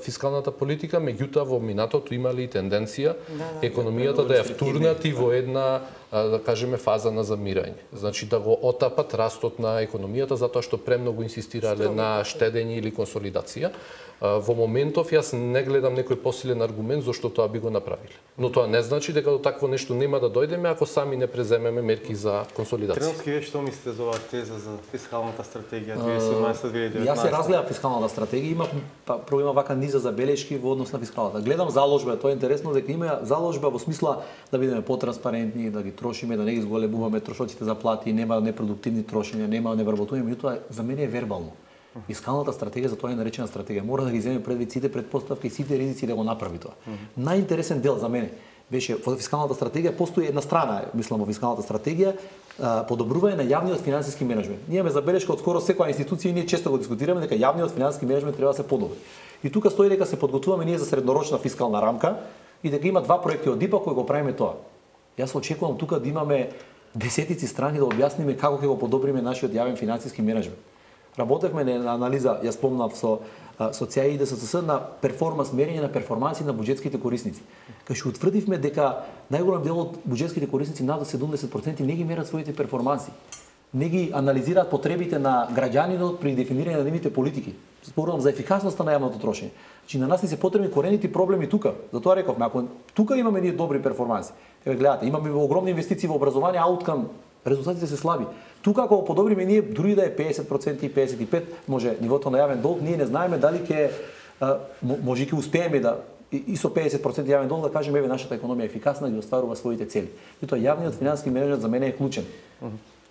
фискалната политика, меѓутоа во минатото имали и тенденција да, да, економијата да ја втурнати во една да кажеме фаза на замирање. Значи да го отапат растот на економијата затоа што премногу инсистирале на штедење или консолидација. Во моментов јас не гледам некој посилен аргумент зашто тоа би го направиле. Но тоа не значи дека до такво нешто нема да дојдеме ако сами не преземеме мерки за консолидација. Треновски, вие што мислите за оваа теза за фискалната стратегија две илјади и седумнаесета - две илјади и деветнаесета? Јас се разгледав фискалната стратегија, има па прво има вака низа забелешки во однос на фискалната. Гледам заложба, тоа е интересно дека има заложба во смисла да бидеме потранспарентни, да ги трошиме, да не ги зголемуваме трошоците за плати, нема непродуктивни трошења, нема невработување, меѓутоа за мене е вербално. Фискалната стратегија, за тоа е наречена стратегија, мора да ги земе предвид сите предпоставки и сите ризици да го направи тоа. Mm -hmm. Најинтересен дел за мене беше во фискалната стратегија, постои една страна, мислам, во фискалната стратегија, подобрување на јавниот финансиски менеджмент. Ние имаме забелешка од скоро секоја институција и ние често го дискутираме дека јавниот финансиски менеджмент треба да се подобри. И тука стои дека се подготвуваме ние за среднорочна фискална рамка и дека има два проекти од ИПА кои го правиме тоа. Јас очекувам тука да имаме десетици страни да објасниме како ќе го подобриме нашиот јавен финансиски менеджмент. Работевме на анализа, ја спомнав со со ЦАИ и ДСС на перформанс мерење на перформанси на буџетските корисници. Кај што утврдивме дека најголем дел од буџетските корисници над седумдесет проценти не ги мерат своите перформанси. Не ги анализираат потребите на граѓанинот при дефинирање на нивните политики. Зборувам за ефикасноста на јавното трошење. Значи на нас ни се потребни корените проблеми тука. Затоа рековме, ако тука имаме ние добри перформанси. Еве гледате, имаме огромни инвестиции во образование, ауткам резултатите се слаби. Тука ако го подобриме ние дури да е педесет проценти и педесет и пет проценти, може нивото на јавен долг, ние не знаеме дали ќе може ќе успееме да и со педесет проценти јавен долг да кажеме еве нашата економија е ефикасна и остварува своите цели. И тоа јавниот финансиски менеджмент за мене е клучен.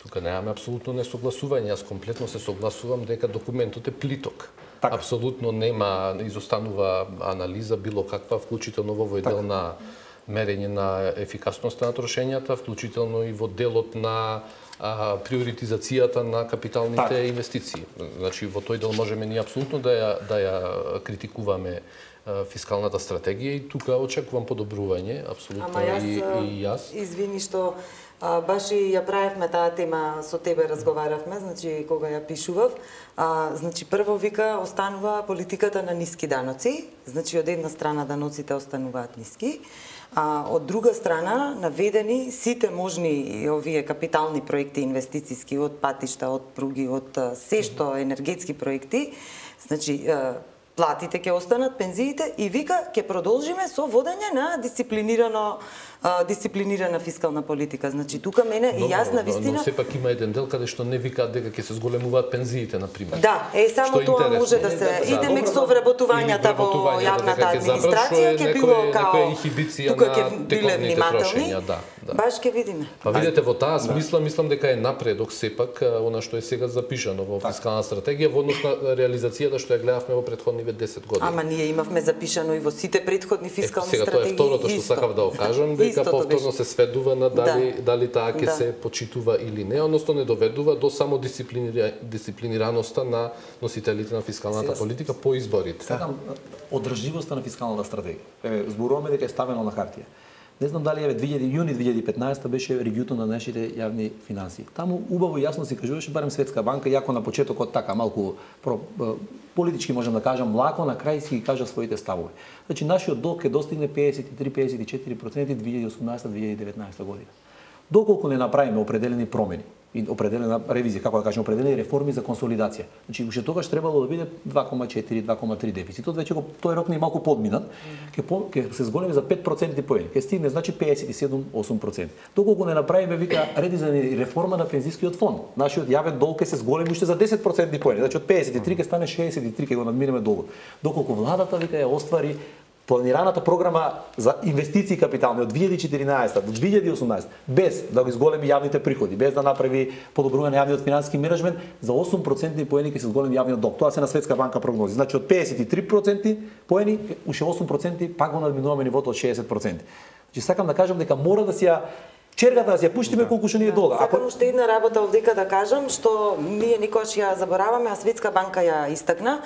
Тука немаме апсолутно несогласување. Јас комплетно се согласувам дека документот е плиток. Так. Апсолутно нема, изостанува анализа било каква, вклучително во овој дел на мерење на ефикасноста на трошењата, вклучително и во делот на а, приоритизацијата на капиталните так. инвестиции. Значи во тој дел можеме ние апсолутно да ја да ја критикуваме а, фискалната стратегија и тука очекувам подобрување апсолутно Ама јас, и, и јас. Извини што А, баш и ја правевме таа тема, со тебе разговаравме, значи кога ја пишував. А, значи прво вика останува политиката на ниски даноци, значи од една страна даноците остануваат ниски, а од друга страна наведени сите можни овие капитални проекти инвестициски од патишта, од пруги, од се што енергетски проекти, значи платите ќе останат, пензиите и вика ќе продолжиме со водење на дисциплинирано дисциплинирана фискална политика. Значи тука мене и јас на вистина. Но сепак има еден дел каде што не викаат дека ќе се зголемуваат пензиите на пример. Да, е само тоа може да се иде мек со вработувањата во јавната администрација ќе било као тука ќе биле внимателни. Да, да. Баш ќе видиме. Па видите во таа смисла мислам дека е напредок сепак она што е сега запишано во фискална стратегија во однос на реализацијата што ја гледавме во претходниве десет години. Ама ние имавме запишано и во сите претходни фискални сега стратегии. Сега тоа е второто што сакав да го кажам, дека повторно се сведува на дали да. дали таа ќе да. се почитува или не, односно не доведува до само дисциплинира... дисциплинираноста на носителите на фискалната сега, политика по изборите. Сакам одржливоста на фискалната стратегија. Еве зборуваме дека е ставено на хартија. Не знам дали еве јуни две илјади и петнаесета беше ревјуто на нашите јавни финансии. Таму убаво и јасно се кажуваше, барем Светска банка, јако на почетокот така малку про, политички можам да кажам, млако на крај си ги кажа своите ставови. Значи нашиот долг ќе достигне пеесет и три до пеесет и четири проценти две илјади и осумнаесета до две илјади и деветнаесета година. Доколку не направиме определени промени и определена ревизија, како да кажем, определени реформи за консолидација. Значи уште тогаш требало да биде два кома четири до два кома три дефицитот, веќе го тој рок не е малку подминат, ќе mm. ќе се зголеми за пет проценти поени, ќе стигне значи пеесет и седум до осум проценти. Доколку не направиме вика редизајн и реформа на пензискиот фонд, нашиот јавен долг ќе се зголеми уште за десет проценти поени, значи од пеесет и три ќе стане шеесет и три, ќе го надминеме долгот. Доколку владата вика ја оствари планираната програма за инвестиции капитални од две илјади и четиринаесета до две илјади и осумнаесета без да го изголеми јавните приходи, без да направи подобрување на јавниот финансиски менеджмент, за осум проценти поени ќе се зголеми јавниот долг. Тоа се на Светска банка прогнози. Значи од пеесет и три проценти поени уште осум проценти пак го надминуваме нивото од шеесет проценти. Значи сакам да кажам дека мора да се ја чергата да се ја пуштиме да. колку што ни е долга. Сакам уште една работа овдека да кажам што ние никогаш ја забораваме, а Светска банка ја истакна.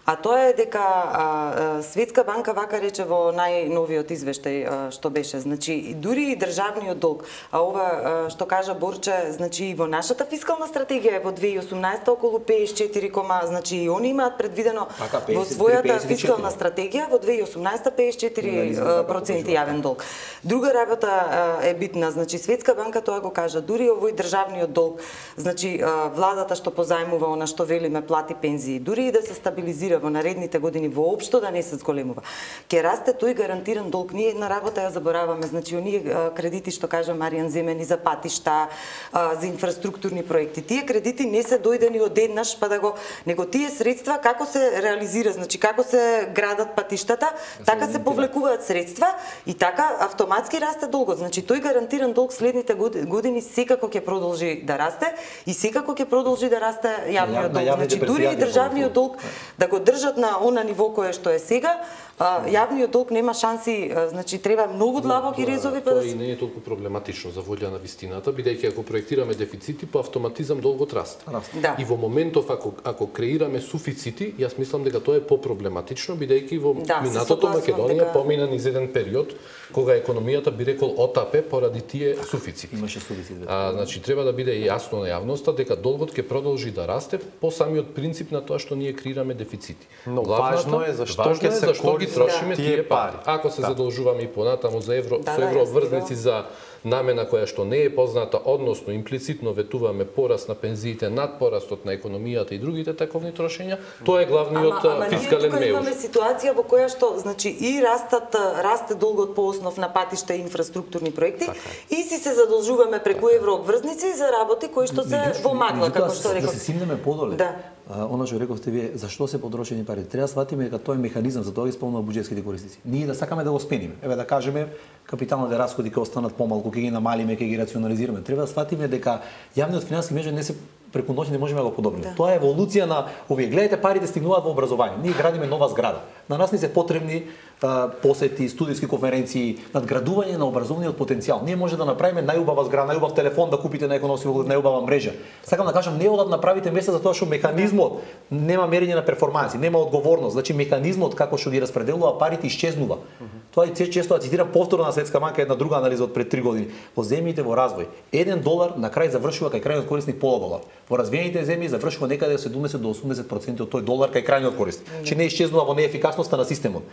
А тоа е дека а, Светска банка вака рече во најновиот извештај а, што беше, значи дури и државниот долг, а ова а, што кажа Борче, значи и во нашата фискална стратегија во две илјади и осумнаесета околу пеесет и четири, значи и они имаат предвидено така, во својата фискална стратегија во две илјади и осумнаесета пеесет и четири проценти јавен долг. Друга работа а, е битна, значи Светска банка тоа го кажа, дури овој државниот долг, значи а, владата што позајмува она што велиме плати пензии, дури и да се стабилизира во наредните години воопшто да не се зголемува. Ке расте тој гарантиран долг. Ние една работа ја забораваме, значи оние кредити што кажа Маријан земени за патишта, за инфраструктурни проекти. Тие кредити не се дојдени одеднаш па да го, него тие средства како се реализира, значи како се градат патиштата, така се повлекуваат средства и така автоматски расте долгот. Значи тој гарантиран долг следните години секако ќе продолжи да расте и секако ќе продолжи да расте јавниот долг. Значи дури и државниот долг да го држат на она ниво кое што е сега, а, јавниот долг нема шанси, а, значи треба многу длабоки резови па да се... Тоа и не е толку проблематично за волја на вистината, бидејќи ако проектираме дефицити, по автоматизам долгот расте. Да. И во моментов ако ако креираме суфицити, јас мислам дека тоа е по-проблематично, бидејќи во да, минатото Македонија дека... помина низ еден период кога економијата би рекол отапе поради тие суфицити. Имаше суфицит. А, значи треба да биде јасно на јавноста дека долгот ќе продолжи да расте по самиот принцип на тоа што ние креираме дефицити. Но важно е зашто ќе се ги трошиме тие пари. Ако се да. задолжуваме и понатаму за евро, да, со евроврзници да, за намена која што не е позната, односно имплицитно ветуваме пораст на пензиите над порастот на економијата и другите таковни трошења, тоа е главниот ама, ама, фискален меуж. Ама имаме ситуација во која што, значи, и растат, расте долгот по основ на патишта и инфраструктурни проекти, така. И си се задолжуваме преку така. еврообврзници за работи кои што се во магла, како што реков. Да се симнеме подоле. Да. Она што рековте вие, зашто се потрошени пари? Треба да сватиме дека тоа е механизам, за тоа ги спомнува буџетските корисници. Ние да сакаме да го спениме. Еве да кажеме, капиталните расходи ќе останат помалку, ќе ги намалиме, ќе ги рационализираме. Треба да сватиме дека јавниот финансиски менеджмент не се преку ноќ не можеме да го подобриме. Да. Тоа е еволуција на овие. Гледате, парите стигнуваат во образование. Ние градиме нова зграда. На нас ни се потребни посети, студиски конференции, надградување на образовниот потенцијал. Ние може да направиме најубава зграда, најубав телефон да купите на економски факултет, најубава мрежа. Сакам да кажам, не одат направите место за тоа што механизмот нема мерење на перформанси, нема одговорност. Значи механизмот како што ги распределува парите исчезнува. Mm -hmm. Тоа и често цитирам повторно на Светска банка една друга анализа од пред три години. Во земјите во развој, еден долар на крај завршува кај крајниот корисник пола долар. Во развиените земји завршува некаде седумдесет до осумдесет проценти од тој долар кај крајниот корисник. Mm -hmm. Че не исчезнува во неефикасноста на системот.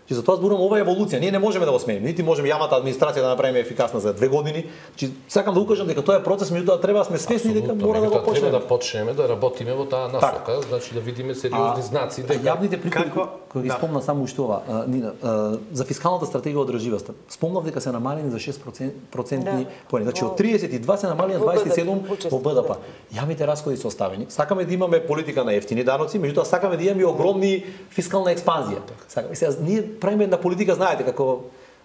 Че затоа зборувам ова еволуција. Ние не можеме да го смениме, нити можеме јавната администрација да направиме ефикасна за две години. Че сакам да укажам дека тоа е процес, меѓутоа треба да сме свесни дека мора да го почнеме. Треба да почнеме да работиме во таа насока, так. Значи да видиме сериозни знаци дека јавните приходи кои ги да. спомна само уште ова, а, Нина, а, за фискалната стратегија одржливост. Спомнав дека се намалени за шест проценти поени. Значи од тридесет и два се намалени на дваесет и седум во Б Д П. Јавните расходи се оставени. Сакаме да имаме политика на ефтини даноци, меѓутоа сакаме да имаме огромни фискална експанзија. Сакаме сега ние правиме една политика, знаете, како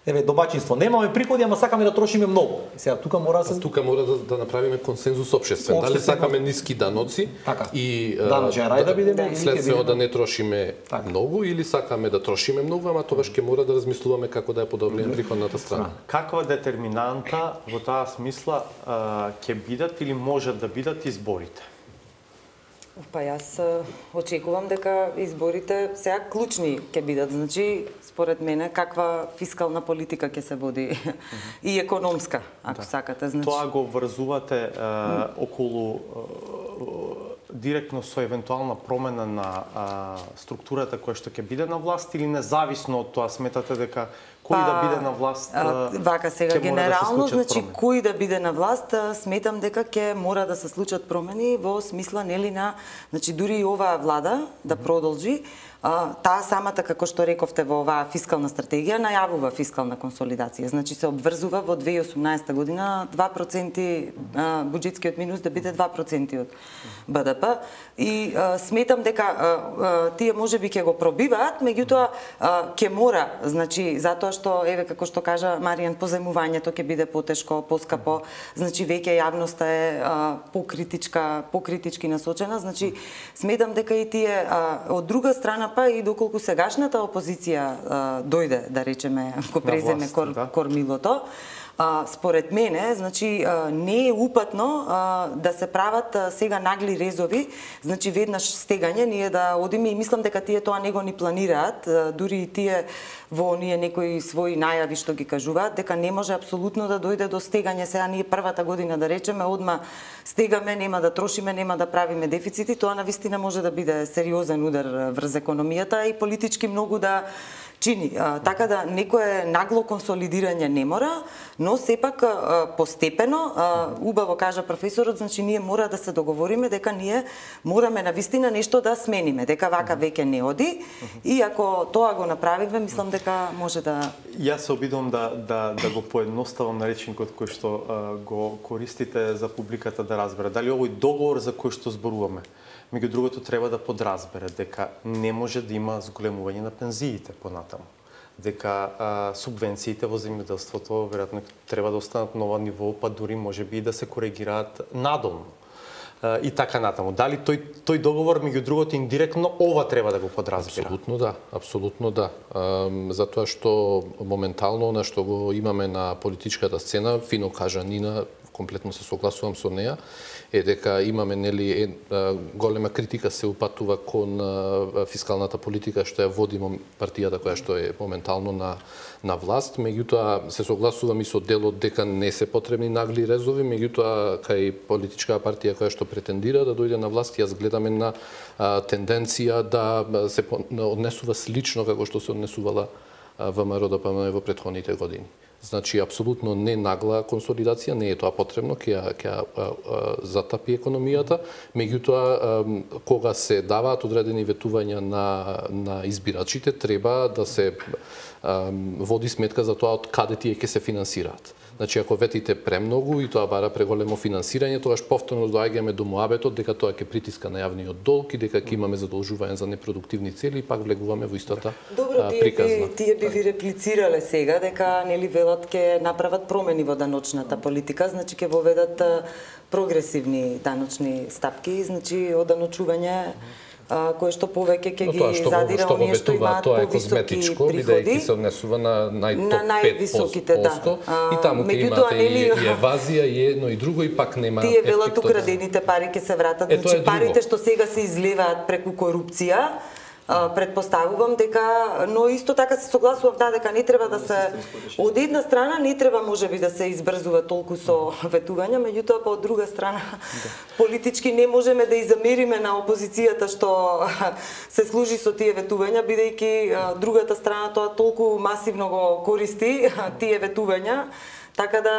еве домаќинство. Немаме приходи, ама сакаме да трошиме многу. И сега тука мора да се тука мора да, да направиме консензус општествен. Дали сакаме ниски даноци така. И даночен рај да бидеме или следствено да не трошиме така. Многу или сакаме да трошиме многу, ама тогаш ќе мора да размислуваме како да ја подобриме приходната страна. Каква детерминанта во таа смисла ќе бидат или можат да бидат изборите? Па јас очекувам дека изборите сега клучни ќе бидат. Значи, според мене, каква фискална политика ќе се води mm -hmm. и економска, ако да. сакате. Значи... Тоа го врзувате е, околу е, директно со евентуална промена на а, структурата која што ќе биде на власт или независно од тоа сметате дека кој па, да биде на власт а, вака сега генерално, да значи кој да биде на власт, сметам дека ќе мора да се случат промени во смисла нели на, значи дури и оваа влада да продолжи. А, таа самата, како што рековте, во оваа фискална стратегија најавува фискална консолидација. Значи се обврзува во две илјади и осумнаесета година два проценти а, буџетскиот минус да биде два проценти од Б Д П и а, сметам дека а, а, тие можеби ќе го пробиваат, меѓутоа ќе мора, значи затоа што еве како што кажа Маријан, позајмувањето ќе биде потешко, поскапо, значи веќе јавноста е а, покритичка, покритички насочена, значи сметам дека и тие а, од друга страна па и доколку сегашната опозиција а, дојде, да речеме, ако преземе власт, кор, да. кормилото, а, според мене, значи а, не е упатно а, да се прават а, сега нагли резови, значи веднаш стегање, ние да одиме и мислам дека тие тоа не го ни планираат, а, дури и тие во оние некои своји најави што ги кажуваат, дека не може апсолутно да дојде до стегање. Сега ние првата година, да речеме, одма стегаме, нема да трошиме, нема да правиме дефицити, тоа навистина може да биде сериозен удар врз економијата и политички многу да чини. А, така да некое нагло консолидирање не мора, но сепак а, постепено, а, убаво кажа професорот, значи ние мора да се договориме дека ние мораме навистина нешто да смениме, дека вака веќе не оди и ако тоа го направиме, мислам дека може да... Јас се обидувам да, да, да го поедноставам наречникот кој што а, го користите за публиката да разбере. Дали овој договор за кој што зборуваме, меѓу другото треба да подразбере дека не може да има зголемување на пензиите понатаму. Дека а, субвенциите во земјоделството веројатно треба да останат на ова ниво, па дури можеби и да се коригираат надолу. А, и така натаму. Дали тој тој договор меѓу другото индиректно ова треба да го подразбира? Апсолутно да, апсолутно да. А, затоа што моментално на што го имаме на политичката сцена, фино кажа Нина, комплетно се согласувам со неа, е дека имаме нели е, голема критика се упатува кон фискалната политика што ја води партијата која што е моментално на на власт, меѓутоа се согласувам и со делот дека не се потребни нагли резови, меѓутоа кај политичка партија која што претендира да дојде на власт, јас гледам една а, тенденција да се однесува слично како што се однесувала ВМРО Д П М во претходните години. Значи, апсолутно не нагла консолидација, не е тоа потребно, ќе ќе затапи економијата, меѓутоа кога се даваат одредени ветувања на на избирачите, треба да се а, води сметка за тоа од каде тие ќе се финансираат. Значи, ако ветите премногу и тоа бара преголемо финансирање, тогаш повторно доаѓаме до муабетот дека тоа ќе притиска на јавниот долг и дека ќе имаме задолжување за непродуктивни цели и пак влегуваме во истата Добро, а, тие приказна. Би, тие би ви реплицирале сега дека нели велат ќе направат промени во даночната политика, значи ќе воведат прогресивни даночни стапки, значи оданочување кое што повеќе ќе ги што, задира што оние што имаат повисоки приходи, бидејќи се однесува на најтоп на највисоките, пет проценти, да. И таму ќе имате и, и евазија, и едно и друго, и пак нема тие велат украдените пари ќе се вратат. Е, значи парите што сега се излеваат преку корупција, предпоставувам дека, но исто така се согласувам да дека не треба да се од една страна не треба можеби да се избрзува толку со ветувања, меѓутоа па од друга страна политички не можеме да изамериме на опозицијата што се служи со тие ветувања, бидејќи другата страна тоа толку масивно го користи тие ветувања, така да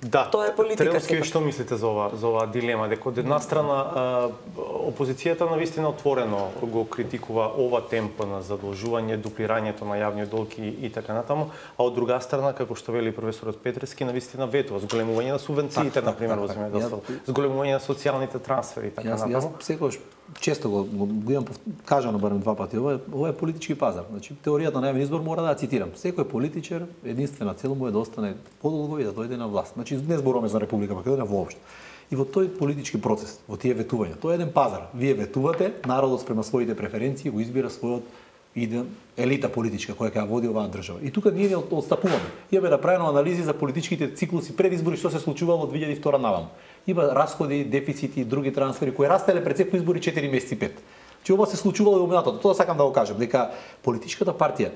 Да, тоа е политика. Трелски, што мислите за ова, за оваа дилема? Дека од една страна опозицијата навистина отворено го критикува ова темпо на задолжување, дуплирањето на јавниот долг и, и така натаму, а од друга страна, како што вели професорот Петрески, навистина ветува зголемување на субвенциите, так, например, во земјоделството, зголемување на социјалните трансфери и така јас, натаму. Јас секогаш често го, го, го имам кажано барем два пати, ова е, ова е политички пазар. Значи, теоријата на јавен избор мора да ја цитирам. Секој политичар, единствена цел му е да остане подолго и да дојде на власт. Значи, не зборуваме за Република Македонија воопшто. И во тој политички процес, во тие ветувања, тоа е еден пазар. Вие ветувате, народот спрема своите преференции го избира својот иден елита политичка која ќе ја води оваа држава. И тука ние не отстапуваме. Имаме направено анализи за политичките циклуси пред избори што се случувало од две илјади и втора наваму. Има расходи, дефицити и други трансфери кои растеле пред секој избори четири месеци пет. Че ова се случувало и во минатото. Тоа сакам да го кажам, дека политичката партија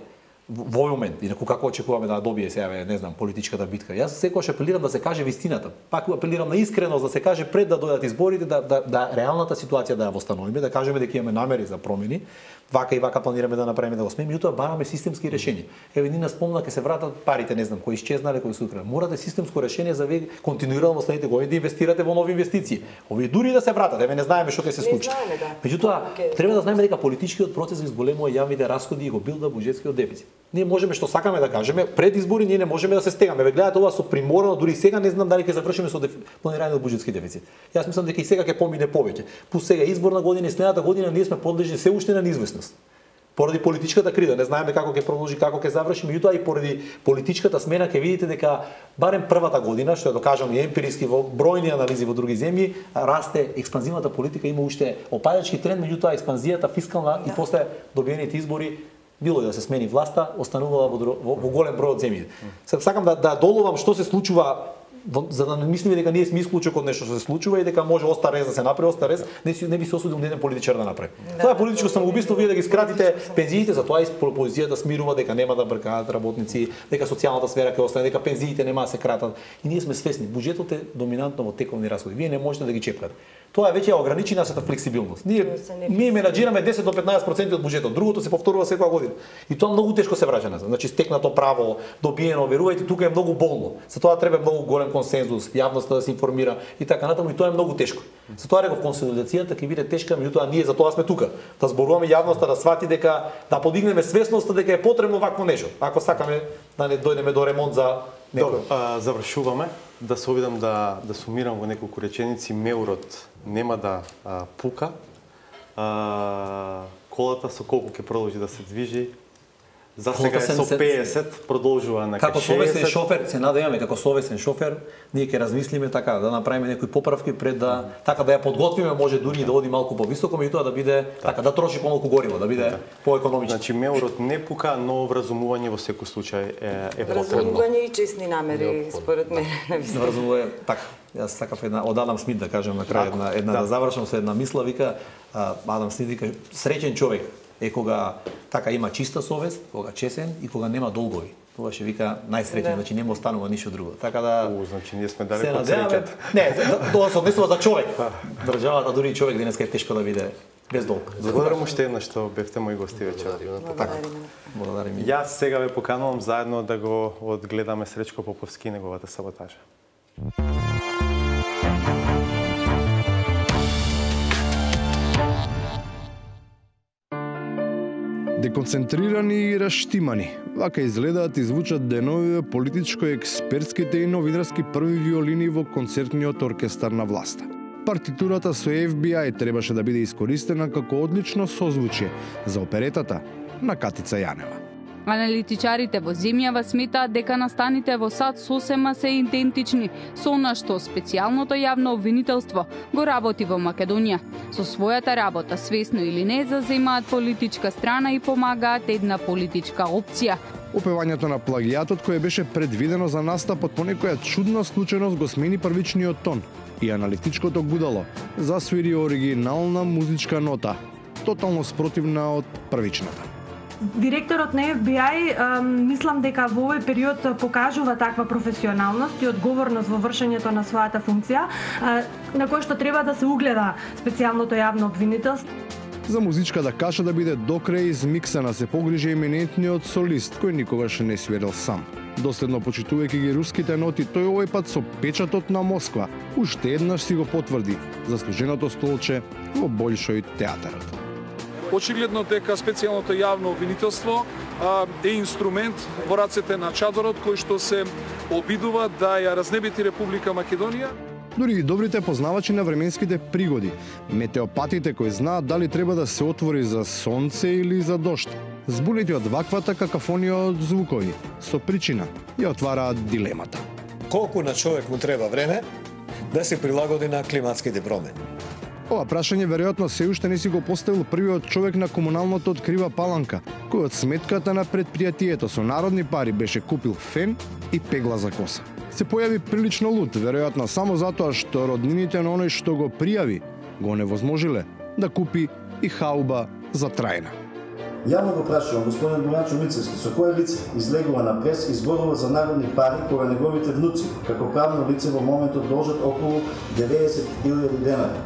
во овој момент, инаку како очекуваме да добие сега, не знам, политичката битка. Јас секогаш апелирам да се каже вистината. Пак апелирам на искреност да се каже пред да дојдат изборите, да, да, да реалната ситуација да ја восстановиме, да кажеме дека имаме намери за промени, вака и вака планираме да направиме да го смееме, меѓутоа бараме системски решенија. Еве Нина спомна ќе се вратат парите, не знам, кои исчезнале, кои се украли. Морате системско решение за вие континуирано следните години да инвестирате во нови инвестиции. Овие дури да се вратат, еве не знаеме што ќе се случи. Да. Меѓутоа треба да знаеме дека политичкиот процес изголемува јавните расходи и го билда буџетскиот дефицит. Ние можеме што сакаме да кажеме, пред избори ние не можеме да се стегаме. Ве гледате ова со приморено, дури сега не знам дали ќе завршиме со деф... планирање на буџетски дефицит. Јас мислам дека и сега ќе помине повеќе. Пус сега изборна година и следната година ние сме подлежни се уште на неизвестност. Поради политичката криза, не знаеме како ќе продолжи, како ќе заврши, меѓутоа и поради политичката смена ќе видите дека барем првата година, што е докажано и емпириски во бројни анализи во други земји, расте експанзивната политика, има уште опаѓачки тренд, меѓутоа експанзијата фискална и после добиените избори било да се смени власта, останувала во, во, во голем број од земји. Сакам да да доловам што се случува, за да не мислиме дека ние сме исклучок од нешто што се случува и дека може оста рез да се направи, оста рез, не, не би се осудил еден политичар да направи. Да, тоа е политичко самоубиство, вие да ги скратите пензиите, затоа и опозицијата смирува дека нема да бркаат работници, дека социјалната сфера ќе остане, дека пензиите нема да се кратат. И ние сме свесни, буџетот е доминантно во тековни расходи. Вие не можете да ги чепкате. Тоа веќе ја ограничи нашата флексибилност. Ние ние менаџираме десет до петнаесет проценти од буџетот, другото се повторува секоја година. И тоа многу тешко се враќа назад. Значи стекнато право, добиено, верувајте, тука е многу болно. Затоа треба многу голем консензус, јавноста да се информира и така натаму, и тоа е многу тешко. Затоа реков консолидацијата ќе биде тешка, меѓутоа ние затоа сме тука. Да зборуваме јавноста да свати дека да подигнеме свесноста дека е потребно вакво нешто. Ако сакаме да не дојдеме до ремонт за некој. Добро, а, завршуваме. Да се обидам да да сумирам во неколку реченици. Меурот нема да а, пука. А, колата со колку ќе продолжи да се движи? За сега е со пеесет, продолжува на како совесен шофер, се надеваме како совесен шофер, ние ќе размислиме така да направиме некои поправки пред да така да ја подготвиме, може дури да оди малку повисоко, меѓутоа да биде така да троши помалку гориво, да биде поекономично. Значи меурот не пука, но вразумување во секој случај е, е потребно. Вразумување и честни намери според мене. Вразумување така. Јас сакав една од Адам Смит да кажам на крај една една да, да завршам со една мисла, вика Адам Смит вика среќен човек е кога така има чиста совест, кога чесен и кога нема долгови. Тоа ќе вика најсреќен, да. Значи нема останува ништо друго. Така да У, значи ние сме далеко од среќата. Не, тоа се однесува за човек. Државата дури и човек денеска е тешко да биде без долг. Благодарам уште еднаш што бевте мои гости вечер. Така. Благодарам. Јас сега ве поканувам заедно да го одгледаме Среќко Поповски и неговата саботажа. Деконцентрирани и раштимани, вака изгледаат и звучат деновиве политичко-експертските и новинарски први виолини во концертниот оркестар на власта. Партитурата со Еф Би Ај требаше да биде искористена како одлично созвучие за оперетата на Катица Јанева. Аналитичарите во земјава сметаат дека настаните во САД сосема се идентични со она што специјалното јавно обвинителство го работи во Македонија. Со својата работа, свесно или не, заземаат политичка страна и помагаат една политичка опција. Опевањето на плагијатот кое беше предвидено за настапот по некоја чудна случајност го смени првичниот тон и аналитичкото гудало засвири оригинална музичка нота, тотално спротивна од првичната. Директорот на Еф Би Ај мислам дека во овој период покажува таква професионалност и одговорност во вршењето на својата функција, на кој што треба да се угледа специјалното јавно обвинителство. За музичката каша да биде докрај измиксана се погрижи еминентниот солист кој никогаш не свирил сам. Доследно почитувајќи ги руските ноти, тој овој пат со печатот на Москва уште еднаш си го потврди заслуженото столче во Болшој театарот. Очигледно дека специјалното јавно обвинителство е инструмент во рацете на чадорот кој што се обидува да ја разнебити Република Македонија. Дури и добрите познавачи на временските пригоди, метеопатите кои знаат дали треба да се отвори за сонце или за дожд, збунети од ваквата какафонија од звукови, со причина ја отвараат дилемата. Колку на човек му треба време да се прилагоди на климатските промени? Ова прашање веројатно се уште не си го поставил првиот човек на комуналното од Крива Паланка, кој од сметката на предпријатието со народни пари беше купил фен и пегла за коса. Се појави прилично лут, веројатно само затоа што роднините на оној што го пријави го невозможиле да купи и хауба за трајна. Јавно го прашувам господин Бојанчо Мицевски, со кое лице излегува на прес и зборува за народни пари кога неговите внуци, како правно лице во моментот должат околу деветдесет илјади денари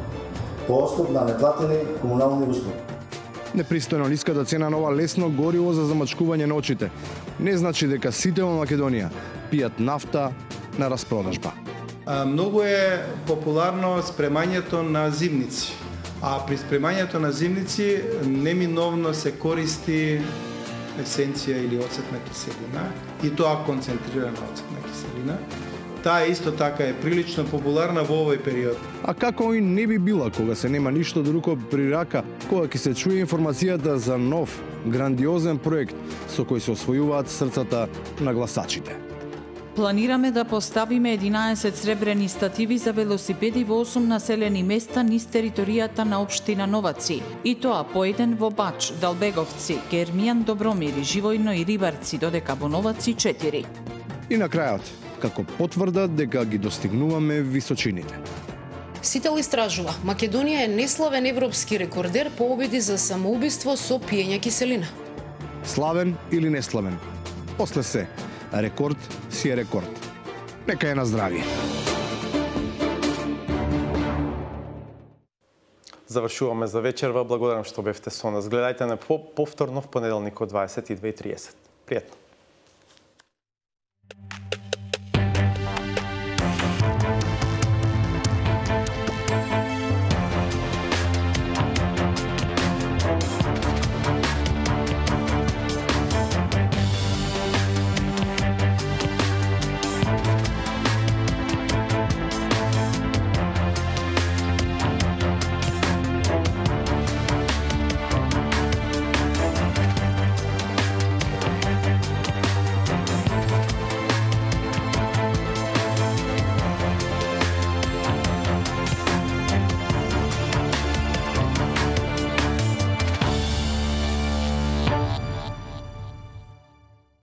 по основ на неплатени комунални услуги. Непристојно ниската цена на ова лесно гориво за замачкување на очите не значи дека сите во Македонија пијат нафта на распродажба. Многу е популарно спремањето на зимници, а при спремањето на зимници неминовно се користи есенција или оцетна киселина, и тоа концентрирана оцетна киселина. Таа исто така е прилично популарна во овој период. А како и не би била кога се нема ништо друго при рака, кога ќе се чуе информацијата за нов, грандиозен проект со кој се освојуваат срцата на гласачите. Планираме да поставиме единаесет сребрени стативи за велосипеди во осум населени места низ територијата на општина Новаци, и тоа по еден во Бач, Далбеговци, Гермијан, Добромир, Живојно и Рибарци, додека во Новаци четири. И на крајот, како потврда дека ги достигнуваме височините. Сител истражува, Македонија е неславен европски рекордер по обиди за самоубиство со пиење киселина. Славен или неславен? После се, рекорд си е рекорд. Нека е на здравие. Завршуваме за вечерва. Благодарам што бевте со нас. Гледајте на повторно в понеделник од дваесет и две и тридесет. Пријатно.